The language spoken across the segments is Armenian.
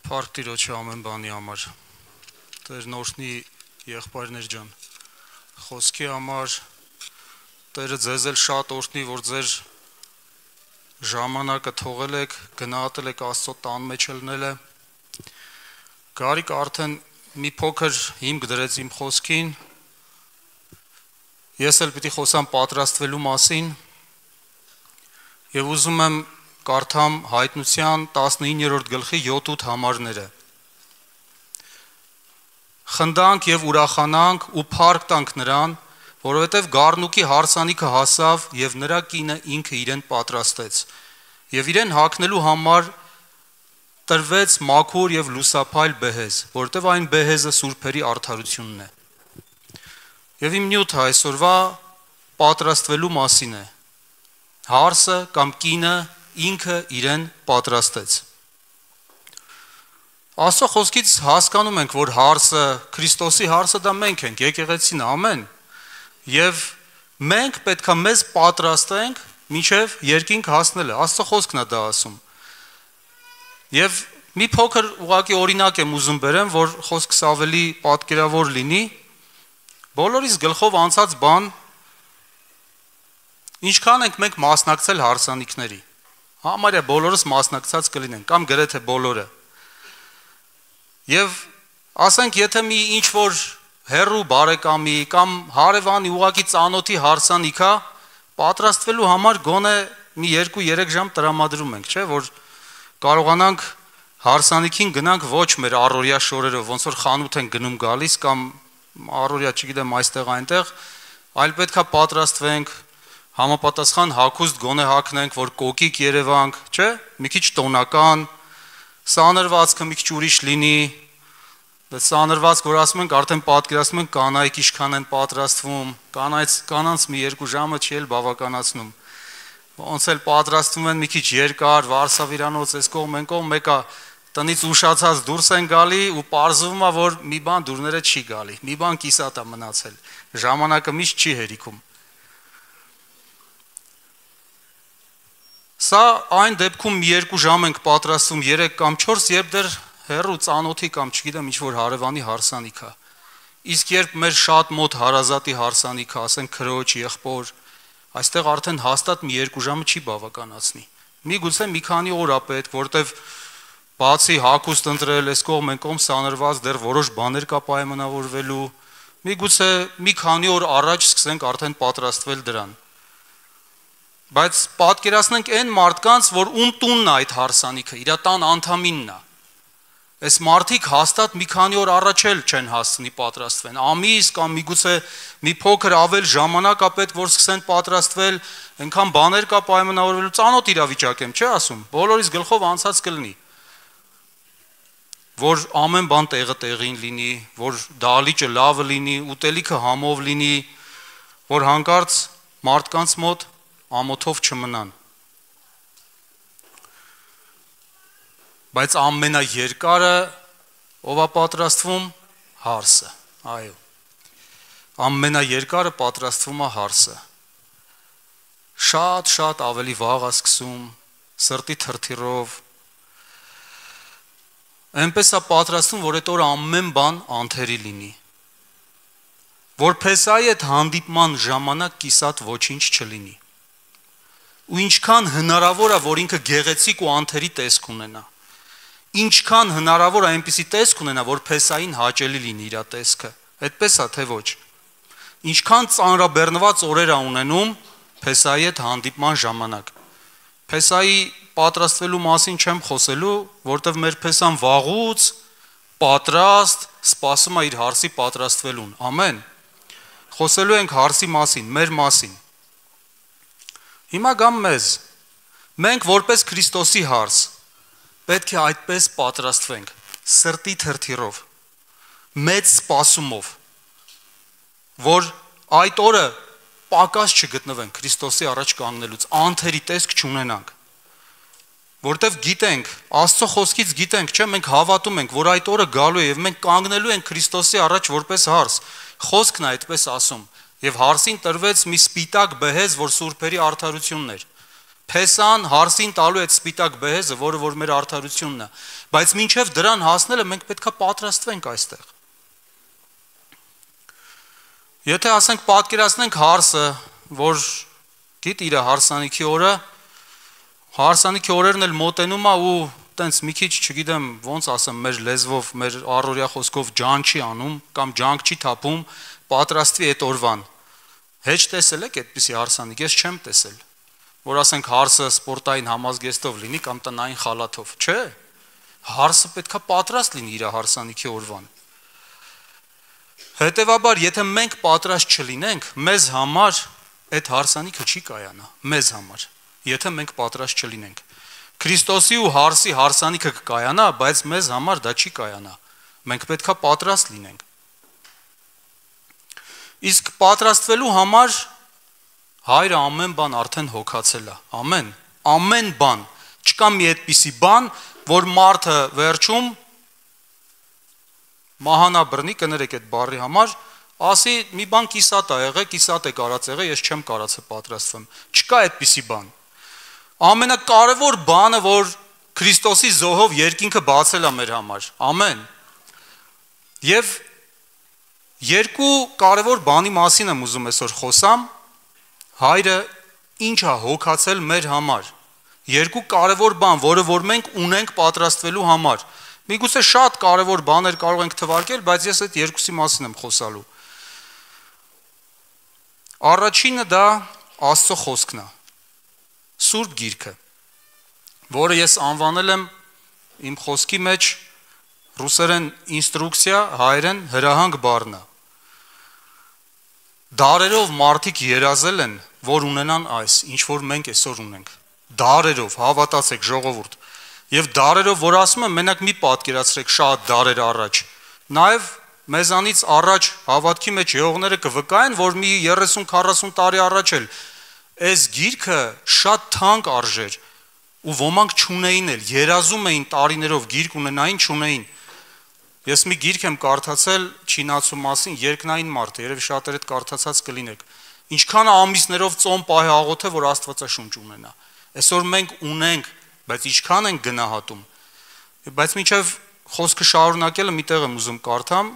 Փառք Տիրոջի ամեն բանի համար, Տերն օրհնի եղբայրներ ջան, խոսքի համար, Տերը ձեզ էլ շատ օրհնի, որ ձեր ժամանակը թողել եք, գնահատել եք Աստծո տան մեջ ելնելը, Գարիկ արդեն մի փոքր հիմք դրեց իմ խոսքին, ես էլ պիտի խոսամ պատրաստվելու մասին, եւ ուզում եմ կարդամ Հայտնության 19-րդ գլխի 7-8 համարները։ Խնդանք եւ ուրախանանք ու փառք տանք նրան, որովհետեւ Գառնուկի հարսանիքը հասավ եւ նրա կինը ինքը իրեն պատրաստեց։ Եվ իրեն հագնելու համար տրվեց մաքուր եւ լուսափայլ բեհեզ, որովհետեւ այն բեհեզը սուրբերի արդարությունն է։ Եվ իմ նյութը այսօրվա պատրաստվելու մասին է։ Հարսը կամ կինը ինքը իրեն պատրաստեց։ Աստծո խոսքից հասկանում ենք, որ հարսը, Քրիստոսի հարսը դա մենք ենք, եկեղեցին, ամեն։ Եվ մենք պետք է մեզ պատրաստենք մինչև երկինք հասնելը։ Աստծո խոսքն է դա ասում։ Եվ մի փոքր ուղղակի օրինակ եմ ուզում բերեմ, որ խոսքս ավելի պատկերավոր լինի։ Բոլորիս գլխով անցած բան, ինչքան ենք մենք մասնակցել հարսանիքների։ Համարյա բոլորս մասնակցած կլինեն, կամ գրեթե բոլորը։ Եվ ասենք, եթե մի ինչ-որ հեռու բարեկամի կամ հարևանի ուղակի ծանոթի հարսանիք է, պատրաստվելու համար գոնե մի 2-3 ժամ տրամադրում ենք, չէ՞, որ կարողանանք հարսանիքին գնանք ոչ մեր առօրյա շորերով, ոնց որ խանութ են գնում գալիս կամ առօրյա, չգիտեմ, այստեղ այնտեղ, այլ պետք է պատրաստվենք, համապատասխան հագուստ գոնե հագնենք, որ կոկիկ երևանք, չէ՞, մի քիչ տոնական, սանրվածքը մի քիչ ուրիշ լինի, սանրվածք, որ ասում ենք, արդեն պատկերացնում ենք կանայք ինչքան են պատրաստվում, կանանց մի 2 ժամը չի էլ բավականացնում, ոնց էլ պատրաստվում են մի քիչ երկար, վարսավիրանոց, այս կողմ, այն կողմ, մեկը տնից ուշացած դուրս են գալի ու պարզվում է, որ մի բան դուրները չի գալի, մի բան կիսատ է մնացել, ժամանակը միշտ չի հերիքում։ Սա այն դեպքում մի 2 ժամ ենք պատրաստում, 3 կամ 4, երբ դեռ հեռու ծանոթի կամ չգիտեմ ինչ-որ հարևանի հարսանիք է։ Իսկ երբ մեր շատ մոտ հարազատի հարսանիք է, ասենք քրոջ, եղբոր, այստեղ արդեն հաստատ մի 2 ժամը չի բավականացնի։ Միգուցե մի քանի օր է պետք, որտեվ բացի հագուստ ընտրել, այս կողմ են կողմ սանրված, դեռ որոշ բաներ կա պայմանավորվելու, միգուցե մի քանի օր առաջ սկսենք արդեն պատրաստվել դրան։ Բայց պատկերացնենք այն մարդկանց, որ ում տունն է այդ հարսանիքը, իր տան անդամինն է։ Այս մարդիկ հաստատ մի քանի օր առաջ էլ չեն հասցնի պատրաստվեն։ Ամիս կամ միգուցե մի փոքր ավել ժամանակ է պետք, որ սկսեն պատրաստվել, այնքան բաներ կա պայմանավորվելու, ծանոթ իրավիճակ եմ, չէ՞ ասում։ Բոլորիս գլխով անցած կլինի, որ ամեն բան տեղը տեղին լինի, որ դահլիճը լավը լինի, ուտելիքը համով լինի, որ հանկարծ մարդկանց մոտ ամոթով չմնան։ Բայց ամենաերկարը ով է պատրաստվում, հարսը, այո։ Ամենաերկարը պատրաստվում է հարսը։ Շատ ավելի վաղ է սկսում, սրտի թրթիռով։ Այնպես է պատրաստվում, որ այդ օրը ամեն բան անթերի լինի։ Որ Փեսայի այդ հանդիպման ժամանակ կիսատ ոչինչ չլինի։ Ու ինչքան հնարավոր է, որ ինքը գեղեցիկ ու անթերի տեսք ունենա։ Ինչքան հնարավոր է այնպիսի տեսք ունենա, որ Փեսային հաճելի լինի իր տեսքը։ Այդպես է, թե ոչ։ Ինչքան ծանրաբեռնված օրեր է ունենում Փեսայի հետ հանդիպման ժամանակ։ Փեսայի պատրաստվելու մասին չեմ խոսելու, որտեղ մեր Փեսան վաղուց պատրաստ սպասում է իր հարսի պատրաստվելուն։ Ամեն։ Խոսելու ենք հարսի մասին, մեր մասին։ Հիմա գամ մեզ, մենք որպես Քրիստոսի հարս, պետք է այդպես պատրաստվենք, սրտի թրթիռով, մեծ սպասումով, որ այդ օրը պակաս չգտնվենք Քրիստոսի առաջ կանգնելուց, անթերի տեսք չունենանք, որտև գիտենք, Աստծո խոսքից գիտենք, չէ, մենք հավատում ենք, որ այդ օրը գալու է և մենք կանգնելու ենք Քրիստոսի առաջ որպես հարս, խոսքն է այդպես ասում, և հարսին տրվեց մի սպիտակ բեհեզ, որ սուրբերի արդարությունն էր, Փեսան հարսին տալու այդ սպիտակ բեհեզը, որը որ մեր արդարությունն է, բայց մինչև դրան հասնելը մենք պետքա պատրաստվենք այստեղ։ Եթե ասենք պատկերացնենք հարսը, որ գիտ իր հարսանիքի օրը, հարսանիքի օրերն էլ մոտենում է ու տենց մի քիչ, չգիտեմ, ոնց ասեմ, մեր լեզվով, մեր առօրյա խոսքով ջան չի անում կամ ջանք չի թափում, պատրաստվի այդ օրվան։ Հեչ տեսել եք այդպիսի հարսանիք, ես չեմ տեսել, որ ասենք հարսը սպորտային համազգեստով լինի կամ տնային խալաթով, չէ։ Հարսը պետքա պատրաստ լինի իր հարսանիքի օրվան։ Հետևաբար, եթե մենք պատրաստ չլինենք, մեզ համար այդ հարսանիքը չի կայանա, մեզ համար, եթե մենք պատրաստ չլինենք։ Քրիստոսի ու հարսի հարսանիքը կկայանա, բայց մեզ համար դա չի կայանա։ Մենք պետքա պատրաստ լինենք։ Իսկ պատրաստվելու համար Հայրը ամեն բան արդեն հոգացել է։ Ամեն, ամեն բան։ Չկա մի այդպիսի բան, որ մարդը վերջում մահանա բռնի, կներեք այդ բառի համար, ասի մի բան կիսատ է եղել, կիսատ է կարած եղել, ես չեմ կարացել պատրաստվեմ։ Չկա այդպիսի բան։ Ամենակարևոր բանը, որ Քրիստոսի զոհով երկինքը բացել է մեր համար։ Ամեն։ Եվ երկու կարևոր բանի մասին եմ ուզում այսօր խոսամ։ Հայրը ինչ է հոգացել մեր համար։ Երկու կարևոր բան, որը որ մենք ունենք պատրաստվելու համար։ Միգուցե շատ կարևոր բաներ կարող ենք թվարկել, բայց ես այդ երկուսի մասին եմ խոսալու։ Առաջինը դա Աստծո խոսքն է, Սուրբ Գիրքը, որը ես անվանել եմ իմ խոսքի մեջ ռուսերեն ինստրուկցիա, հայերեն հրահանգ բառն է։ Դարերով մարդիկ երազել են, որ ունենան այս, ինչ որ մենք այսօր ունենք։ Դարերով, հավատացեք ժողովուրդ։ Եվ դարերով, որ ասում եմ, մենակ մի պատկերացրեք շատ դարեր առաջ։ Նաև մեզանից առաջ հավատքի մեջ եղողները կվկայեն, որ մի 30-40 տարի առաջ էլ այս գիրքը շատ թանկ արժեր ու ոմանք չունեին էլ, երազում էին տարիներով գիրք ունենային, չունեին։ Ես մի գիրք եմ կարդացել Չինացու մասին, երկնային մարդ, երևի շատերը կարդացած կլինեք։ Ինչքան ամիսներով ծոմ պահի աղոթե, որ Աստվածաշունչ ունենա։ Այսօր մենք ունենք, բայց ինչքան ենք գնահատում։ Բայց մինչև խոսքը շարունակելը մի տեղ եմ ուզում կարդամ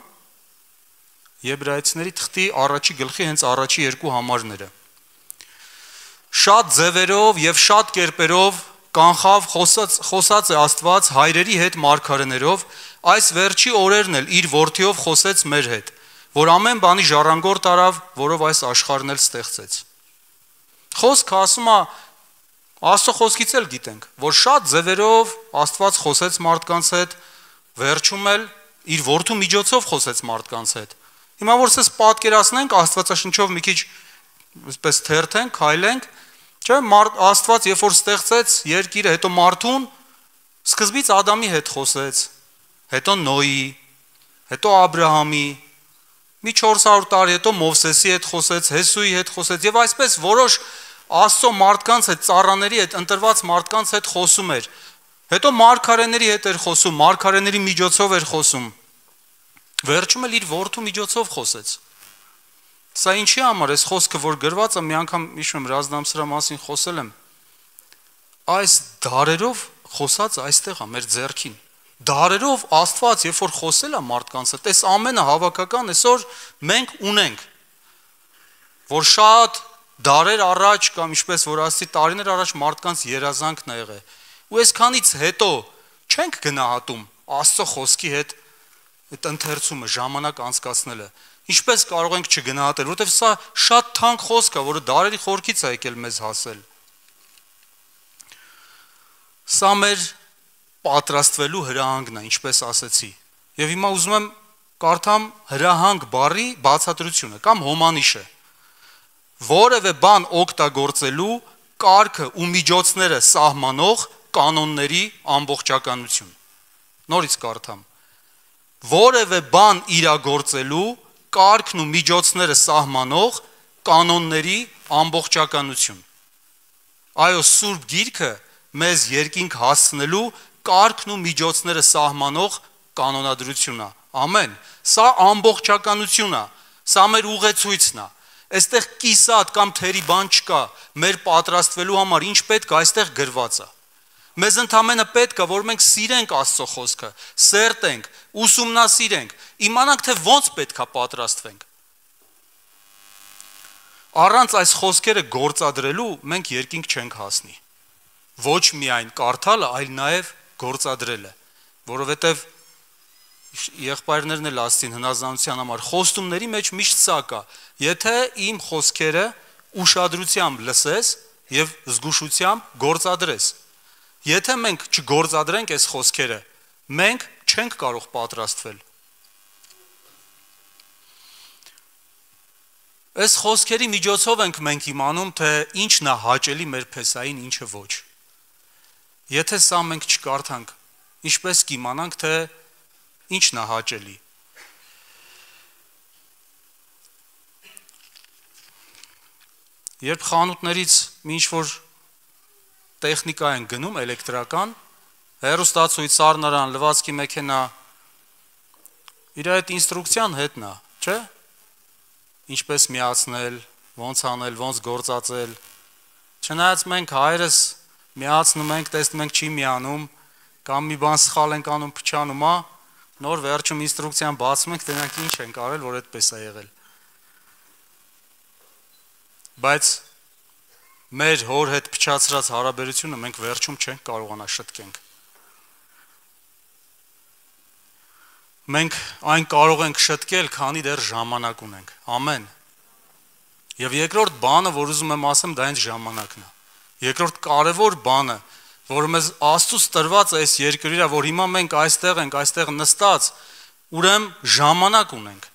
Եբրայեցիների թղթի առաջի գլխի հենց առաջի երկու համարները։ Շատ ձևերով եւ շատ կերպերով կանխավ խոսած է Աստված հայրերի հետ մարգարեներով, այս վերջի օրերն էլ իր որդիով խոսեց մեր հետ, որ ամեն բանի ժառանգորդ արավ, որով այս աշխարհն էլ ստեղծեց։ Խոսքը ասում է Աստծո խոսքից էլ գիտենք, որ շատ ձևերով Աստված խոսեց մարդկանց հետ, վերջում էլ իր որդու միջոցով խոսեց մարդկանց հետ։ Հիմա որ սես պատկերացնենք Աստվածաշնչով մի քիչ այսպես թերթենք, քայլենք, չէ՞, Աստված երբ որ ստեղծեց երկիրը, հետո մարդուն սկզբից Ադամի հետ խոսեց, հետո Նոյի, հետո Աբրահամի, մի 400 տարի հետո Մովսեսի հետ խոսեց, Հեսուի հետ խոսեց եւ այսպես որոշ Աստծո մարդկանց հետ, ծառաների հետ, ընտրված մարդկանց հետ խոսում էր։ Հետո մարգարեների հետ էր խոսում, մարգարեների միջոցով էր խոսում։ Վերջում էլ իր որդու միջոցով խոսեց։ Սա ինչի համար էս խոսքը, որ գրված է, մի անգամ հիշում եմ Ռազդամսրա մասին խոսել եմ։ Այս դարերով խոսած այստեղ է մեր ձեռքին։ Դարերով Աստված, երբ որ խոսել է մարդկանց հետ, այս ամենը հավաքական այսօր մենք ունենք, որ շատ դարեր առաջ կամ ինչպես որ ասի տարիներ առաջ մարդկանց երազանքն է եղել։ Ու այսքանից հետո չենք գնահատում Աստծո խոսքի հետ այդ ընթերցումը, ժամանակ անցկացնելը։ Ինչպես կարող ենք չգնահատել, որովհետև սա շատ թանկ խոսք է, որը դարերի խորքից է եկել մեզ հասել։ Սա մեր պատրաստվելու հրահանգն է, ինչպես ասեցի։ Եվ հիմա ուզում եմ կարդամ հրահանգ բառի բացատրությունը կամ հոմանիշը։ Որևէ բան օգտագործելու կարգը ու միջոցները սահմանող կանոնների ամբողջականություն։ Նորից կարդամ։ Որևէ բան իրագործելու կարգն ու միջոցները սահմանող կանոնների ամբողջականություն։ Այո, Սուրբ Գիրքը մեզ երկինք հասցնելու կարգն ու միջոցները սահմանող կանոնադրությունն է։ Ամեն։ Սա ամբողջականությունն է։ Սա մեր ուղեցույցն է։ Այստեղ կիսատ կամ թերի բան չկա, մեր պատրաստվելու համար ինչ պետք է այստեղ գրված է։ Մեզ ընդամենը պետք է, որ մենք սիրենք Աստծո խոսքը, սերտենք, ուսումնասիրենք, իմանանք, թե ոնց պետք է պատրաստվենք։ Առանց այս խոսքերը գործադրելու մենք երկինք չենք հասնի։ Ոչ միայն կարդալը, այլ նաև գործադրելը, որովհետև եղբայրներն էլ ասին հնազանդության համար խոստումների մեջ միշտ սա կա. եթե իմ խոսքերը ուշադրությամբ լսես եւ զգուշությամբ գործադրես։ Եթե մենք չգործադրենք այս խոսքերը, մենք չենք կարող պատրաստվել։ Այս խոսքերի միջոցով ենք մենք իմանում, թե ինչն է հաճելի մեր փեսային, ինչը ոչ։ Եթե սա մենք չկարդանք, ինչպես կիմանանք, թե ինչն է հաճելի։ Երբ խանութներից ինչ-որ տեխնիկա են գնում, էլեկտրական, հեռուստացույց, սառնարան, լվացքի մեքենա, իր այդ ինստրուկցիան հետն է, չէ՞։ Ինչպես միացնել, ոնց անել, ոնց գործածել։ Չնայած մենք հայերս միացնում ենք, տեսնում ենք չի միանում, կամ մի բան սխալ ենք անում, փչանում է, նոր վերջում ինստրուկցիան բացում ենք, տենանք ինչ ենք արել, որ այդպես է եղել։ Բայց մեր հոր հետ փչացրած հարաբերությունը մենք վերջում չենք կարողանա շտկենք։ Մենք այն կարող ենք շտկել, քանի դեռ ժամանակ ունենք։ Ամեն։ Եվ երկրորդ բանը, որ ուզում եմ ասեմ, դա հենց ժամանակն է։ Երկրորդ կարևոր բանը, որ մեզ Աստծուց տրված է այս երկրիրա, որ հիմա մենք այստեղ ենք, այստեղ նստած, ուրեմն ժամանակ ունենք։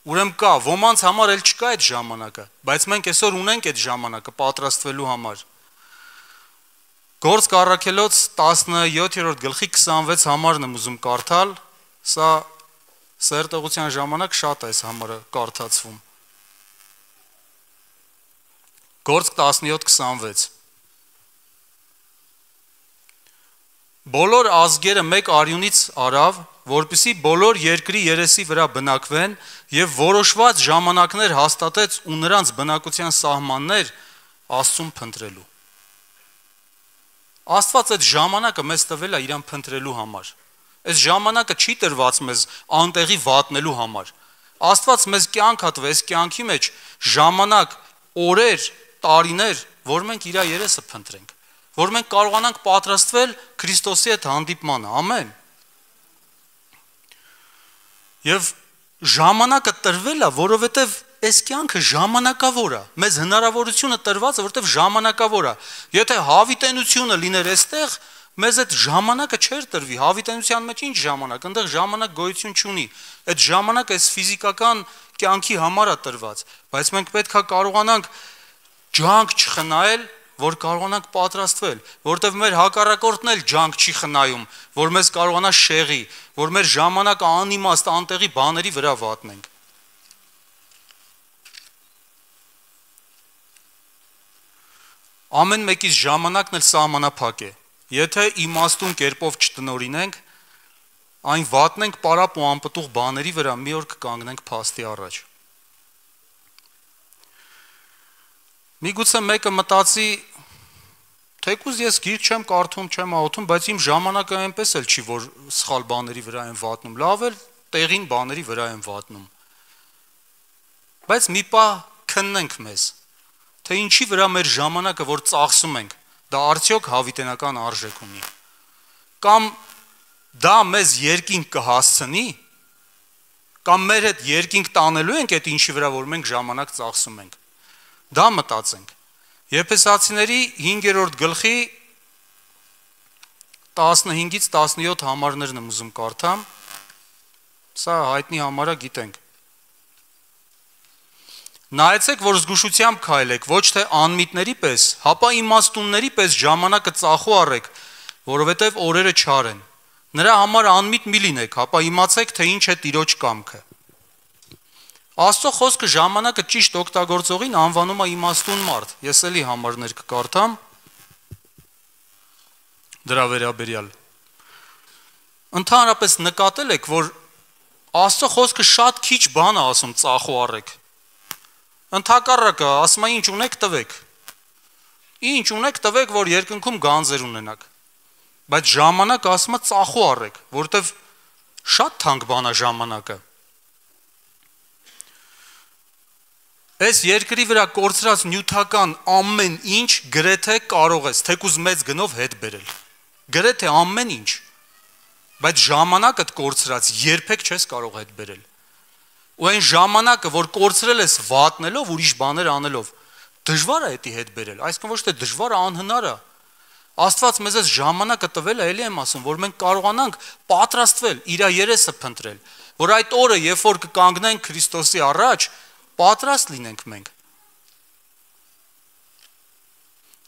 Ուրեմն կա, ոմանց համար էլ չկա այդ ժամանակը, բայց մենք այսօր ունենք այդ ժամանակը պատրաստվելու համար։ Գործք առաքելոց 17-րդ գլխի 26 համարն եմ ուզում կարդալ, սա սերտողության ժամանակ շատ է այս համարը կարդացվում։ Գործք 17-26 Բոլոր ազգերը մեկ արյունից արավ, որպեսզի բոլոր երկրի երեսի վրա բնակվեն եւ որոշված ժամանակներ հաստատեց ու նրանց բնակության սահմաններ Աստծուն փնտրելու։ Աստված այդ ժամանակը մեզ տվել է իրան փնտրելու համար։ Այս ժամանակը չի տրված մեզ անտեղի վատնելու համար։ Աստված մեզ կյանք հատվել, այս կյանքի մեջ ժամանակ, օրեր, տարիներ, որ մենք իր երեսը փնտրենք, որ մենք կարողանանք պատրաստվել Քրիստոսի հետ հանդիպմանը, ամեն։ Եվ ժամանակը տրվել է, որովհետև այս կյանքը ժամանակավոր է, մեզ հնարավորությունը տրված է, որովհետև ժամանակավոր է։ Եթե հավիտենությունը լիներ այստեղ, մեզ այդ ժամանակը չէր տրվի, հավիտենության մեջ ինչ ժամանակ, այնտեղ ժամանակ գոյություն չունի։ Այդ ժամանակը այս ֆիզիկական կյանքի համար է տրված, բայց մենք պետք է կարողանանք ջանք չխնայել, որ կարողանանք պատրաստվել, որտեղ մեր հակառակորդն էլ ջանք չի խնայում, որ մեզ կարողանա շեղի, որ մեր ժամանակը անիմաստ անտեղի բաների վրա վատնենք։ Ամեն մեկից ժամանակն էլ սահմանափակ է։ Եթե իմաստուն կերպով չտնօրինենք, այն վատնենք պարապ ու անպտուղ բաների վրա, մի օր կկանգնենք փաստի առաջ։ Միգուցե մեկը մտածի, թեկուզ ես գիրք չեմ կարդում, չեմ աղոթում, բայց իմ ժամանակը այնպես էլ չի, որ սխալ բաների վրա եմ վատնում, լավ էլ տեղին բաների վրա եմ վատնում։ Բայց մի պահ քննենք մեզ, թե ինչի վրա մեր ժամանակը, որ ծախսում ենք, դա արդյոք հավիտենական արժեք ունի։ Կամ դա մեզ երկինք կհասցնի, կամ մեր հետ երկինք տանելու ենք այդ ինչի վրա, որ մենք ժամանակ ծախսում ենք։ Դա մտածենք։ Եփեսացիների 5-րդ գլխի 15-ից 17 համարներն եմ ուզում կարդամ։ Սա հայտնի համարը գիտենք։ Նայեցեք, որ զգուշությամբ քայլեք, ոչ թե անմիտների պես, հապա իմաստունների պես ժամանակը ծախու առեք, որովհետև օրերը չար են։ Նրա համար անմիտ մի լինեք, հապա իմացեք, թե ինչ է Տիրոջ կամքը։ Աստծո խոսքը ժամանակը ճիշտ օգտագործողին անվանում է իմաստուն մարդ։ Ես էլի համարներ կկարդամ դրա վերաբերյալ։ Ընդհանրապես նկատել եք, որ Աստծո խոսքը շատ քիչ բան է ասում ծախու առեք։ Ընդհակառակը, ասում է ինչ ունեք տվեք։ Ինչ ունեք տվեք, որ երկնքում գանձեր ունենաք։ Բայց ժամանակ ասում է ծախու առեք, որովհետև շատ թանկ բան է ժամանակը։ Այս երկրի վրա կորցրած նյութական ամեն ինչ գրեթե կարող ես թեկուզ մեծ գնով հետ բերել։ Գրեթե ամեն ինչ։ Բայց ժամանակդ կորցրած երբեք չես կարող հետ բերել։ Ու այն ժամանակը, որ կորցրել ես վատնելով, ուրիշ բաներ անելով, դժվար է դա հետ բերել, այսինքն ոչ թե դժվար է, անհնար է։ Աստված մեզ այս ժամանակը տվել է, էլի եմ ասում, որ մենք կարողանանք պատրաստվել, իր երեսը փնտրել, որ այդ օրը, երբ որ կկանգնենք Քրիստոսի առաջ, պատրաստ լինենք մենք։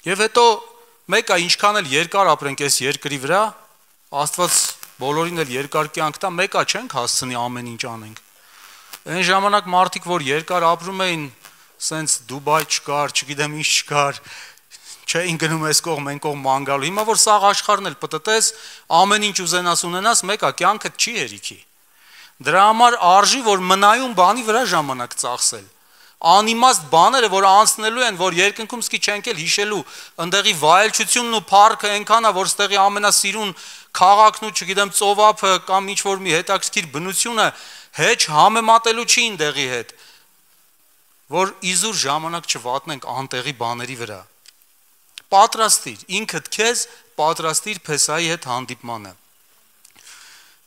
Եվ հետո մեկը ինչքան էլ երկար ապրենք այս երկրի վրա, Աստված բոլորին էլ երկար կյանք տա, մեկա չենք հասցնի ամեն ինչ անենք։ Այն ժամանակ մարդիկ, որ երկար ապրում էին, սենց Դուբայ չկար, չգիտեմ ինչ չկար, չէին գնում այս կողմ, այն կողմ ման գալու։ Հիմա որ սաղ աշխարհն էլ պտտես, ամեն ինչ ուզենաս ունենաս, մեկա կյանքդ չի հերիքի։ Դրա համար արժի, որ մնայուն բանի վրա ժամանակ ծախսել։ Անիմաստ բաները, որ անցնելու են, որ երկնքում սկի չենք էլ հիշելու, ընդեղի վայելչությունն ու փառքը այնքան է, որ ստեղի ամենասիրուն քաղաքն ու չգիտեմ ծովափը կամ ինչ որ մի հետաքրքիր բնությունը հեչ համեմատելու չի ինտեղի հետ, որ իզուր ժամանակ չվատնենք անտեղի բաների վրա։ Պատրաստիր, ինքդ քեզ պատրաստիր Փեսայի հետ հանդիպմանը։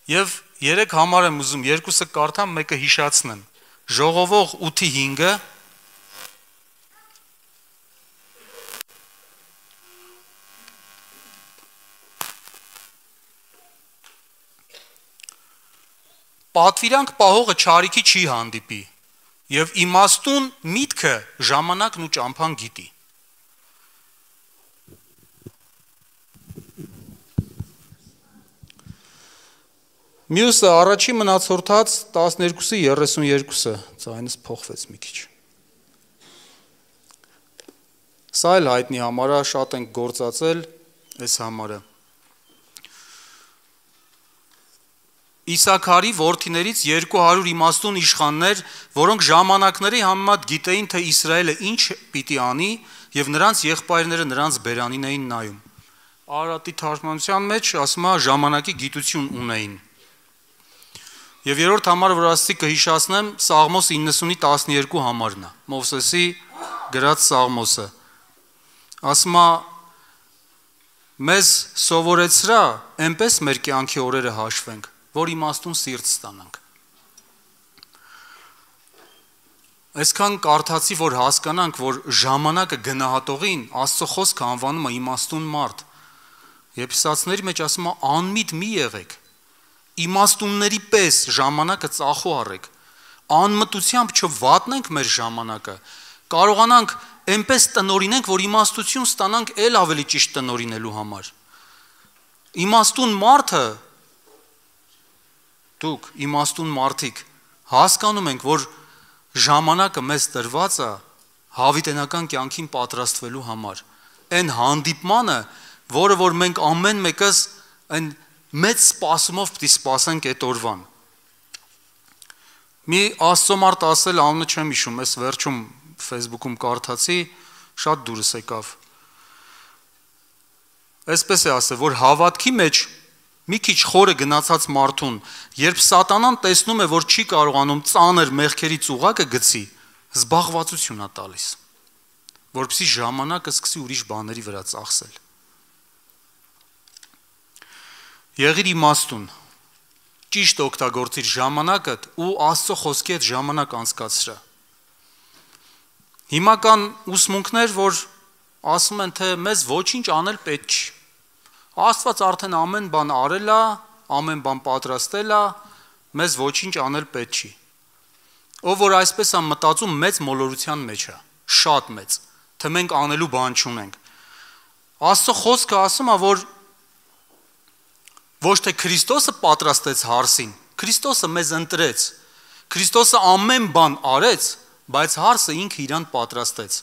Եվ 3 համար եմ ուզում, երկուսը կարդամ, մեկը հիշացնեմ։ Ժողովող 8:5-ը Պատվիրանք պահողը չարիքի չի հանդիպի, եւ իմաստուն միտքը ժամանակն ու ճամփան գիտի։ Մյուսը առաջի մնացորդած 12:32-ը, ձայնս փոխվեց մի քիչ։ Սա էլ հայտնի համար է, շատ ենք գործածել այս համարը։ Իսաքարի որդիներից 200 իմաստուն իշխաններ, որոնք ժամանակների համեմատ գիտեին, թե Իսրայելը ինչ պիտի անի, եւ նրանց եղբայրները նրանց բերանին էին նայում։ Արարատի թարգմանության մեջ ասում է ժամանակի գիտություն ունեին։ Եվ երրորդ համարը, որ ասացի կհիշացնեմ, Սաղմոս 90:12 համարն է, Մովսեսի գրած Սաղմոսը։ Ասում է մեզ սովորեցրա, այնպես մեր կյանքի օրերը հաշվենք, որ իմաստուն սիրտ ստանանք։ Այսքան կարդացի, որ հասկանանք, որ ժամանակը գնահատողին Աստծո խոսքը անվանում է իմաստուն մարդ։ Եփեսացիների մեջ ասում է անմիտ մի եղեք, իմաստունների պես ժամանակը ծախու առեք, անմտությամբ չվատնենք մեր ժամանակը, կարողանանք այնպես տնորինենք, որ իմաստություն ստանանք էլ ավելի ճիշտ տնորինելու համար։ Իմաստուն մարդը, դուք իմաստուն մարդիկ, հասկանում ենք, որ ժամանակը մեզ տրված է հավիտենական կյանքին պատրաստվելու համար։ Այն հանդիպմանը, որը որ մենք ամեն մեկս այն մեծ սպասումով պիտի սպասենք այդ օրվան։ Մի Աստծո մարդ ասել, անունը չեմ հիշում, այս վերջում Facebook-ում կարդացի, շատ դուրս եկավ։ Այսպես է ասել, որ հավատքի մեջ մի քիչ խորը գնացած մարդուն, երբ սատանան տեսնում է, որ չի կարողանում ծանր մեղքերի ծուղակը գցի, զբաղվածություն է տալիս, որպեսզի ժամանակը սկսի ուրիշ բաների վրա ծախսել։ Եղիր իմաստուն, ճիշտ օգտագործիր ժամանակդ ու Աստծո խոսքի հետ ժամանակ անցկացրա։ Հիմա կան ուսմունքներ, որ ասում են, թե մեզ ոչինչ անել պետք չի։ Աստված արդեն ամեն բան արել է, ամեն բան պատրաստել է, մեզ ոչինչ անել պետք չի։ Ով որ այսպես է մտածում, մեծ մոլորության մեջ է, շատ մեծ, թե մենք անելու բան չունենք։ Աստծո խոսքը ասում է, որ ոչ թե Քրիստոսը պատրաստեց հարսին, Քրիստոսը մեզ ընտրեց, Քրիստոսը ամեն բան արեց, բայց հարսը ինքը իրան պատրաստեց։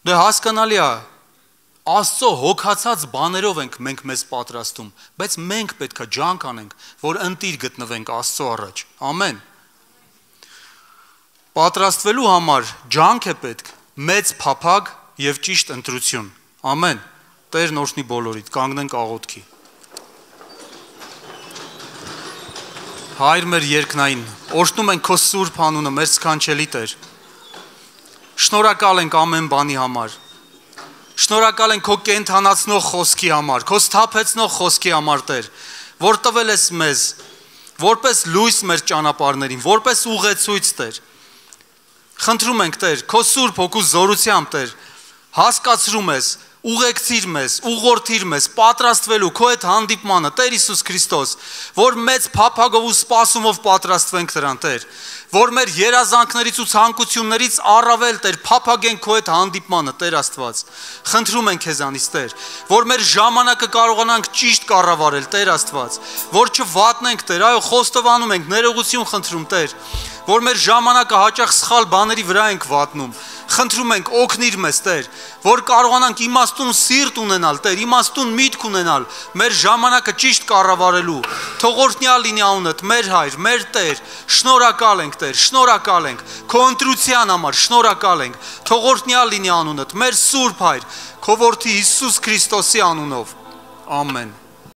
Դե հասկանալի է, Աստծո հոգացած բաներով ենք մենք մեզ պատրաստում, բայց մենք պետք է ջանք անենք, որ ընտիր գտնվենք Աստծո առաջ։ Ամեն։ Պատրաստվելու համար ջանք է պետք, մեծ փափագ եւ ճիշտ ընտրություն։ Ամեն։ Տերն օրհնի բոլորիդ, կանգնենք աղոթքի։ Հայր մեր երկնային, օրհնում ենք քո սուրբ անունը, մեր սքանչելի Տեր։ Շնորհակալ ենք ամեն բանի համար։ Շնորհակալ ենք քո կենթանացնող խոսքի համար, քո սթափեցնող խոսքի համար, Տեր, որ տվել ես մեզ, որպես լույս մեր ճանապարհներին, որպես ուղեցույց, Տեր։ Խնդրում ենք, Տեր, քո սուրբ հոգու զորությամբ, Տեր, հասկացրում ես, ուղեկցիր մեզ, ուղղորդիր մեզ, պատրաստվելու քո այդ հանդիպմանը, Տեր Հիսուս Քրիստոս, որ մեծ փափագով ու սպասումով պատրաստվենք դրան, Տեր, որ մեր երազանքներից ու ցանկություններից առավել, Տեր, փափագենք քո այդ հանդիպմանը, Տեր Աստված։ Խնդրում ենք քեզանից, Տեր, որ մեր ժամանակը կարողանանք ճիշտ կառավարել, Տեր Աստված, որ չվատնենք, Տեր, այո, խոստովանում ենք, ներողություն խնդրում, Տեր, որ մեր ժամանակը հաճախ սխալ բաների վրա ենք վատնում։ Խնդրում ենք օգնիր մեզ, Տեր, որ կարողանանք իմաստուն սիրտ ունենալ, Տեր, իմաստուն միտք ունենալ, մեր ժամանակը ճիշտ կառավարելու։ Թող օրհնյալ լինի անունդ, մեր Հայր, մեր Տեր, շնորհակալ ենք, Տեր, շնորհակալ ենք քո ընտրության համար, շնորհակալ ենք։ Թող օրհնյալ լինի անունդ, մեր Սուրբ Հայր, քո որդի Հիսուս Քրիստոսի անունով։ Ամեն։